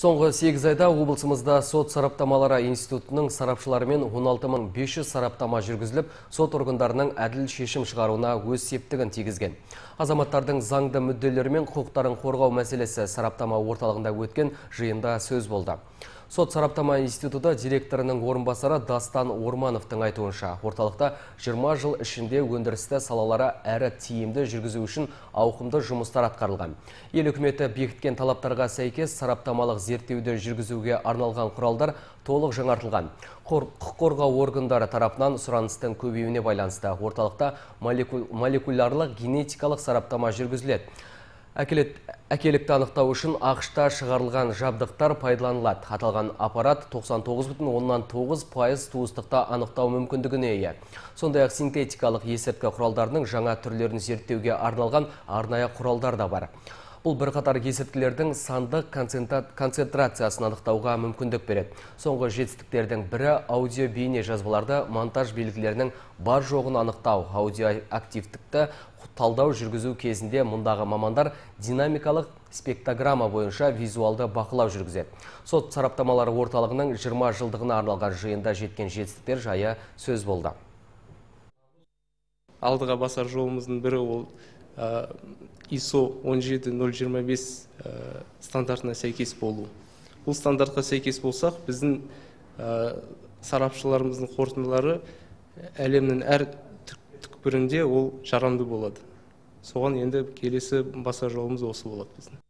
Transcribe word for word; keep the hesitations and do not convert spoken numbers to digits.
Соңғы сегіз айда облысымызда сот сараптамалары институтының сарапшыларымен он алты мың бес жүз сараптама жүргізіліп, сот органдарының әділ шешім шығаруына өз септігін тигізген. Азаматтардың заңды мүдделері мен құқықтарын қорғау мәселесі сараптама орталығында өткен жиында сөз болды. Сот сараптама институты директорының орынбасары Дастан Ормановтың айтуынша, орталықта жиырма жыл ішінде өндірісті салалары әрі тиімді жүргізу үшін ауқымды жұмыстар атқарылған. Ел үкіметі бекіткен талаптарға сәйкес сараптамалық зерттеуді жүргізуге арналған құралдар толық жаңартылған. Құқық қорғау органдары тарапынан сұраныстың көбеюіне байланысты орталықта молекулярлық генетикалық сараптама жүргізіледі. Әкелікті анықтау үшін ақшта шығарылған жабдықтар пайдаланылады. Аталған аппарат тоқсан тоғыз бүтін оннан тоғыз пайыз туыстықта анықтау мүмкіндігіне ие. Сондай-ақ синтетикалық есірткі құралдарының жаңа түрлерін зерттеуге арналған арнайы құралдар да бар. Бұл бірқатар есірткілердің сандық концентрациясын анықтауға мүмкіндік береді. Соңғы жетістіктердің бірі аудио бейне жазбаларды монтаж белгілерінің бар жоғын анықтау. Аудиоактивтікті талдау жүргізу кезінде мұндағы мамандар динамикалық спектрограмма бойынша визуалды бақылау жүргізеді. Сот сараптамалары орталығының жиырма жылдығына арналған жиында жеткен жетістіктер жайы сөз болды. Алдыға басар жолымыздың бірі ол ай эс о он жеті нөл жиырма бес стандартына сәйкес болу. Бұл стандартқа сәйкес болсақ, біздің сарапшыларымыздың қорытындылары әлемнің әр түкпірінде ол жарамды болады. Соған енді келесі басар жолымыз осы болады біздің.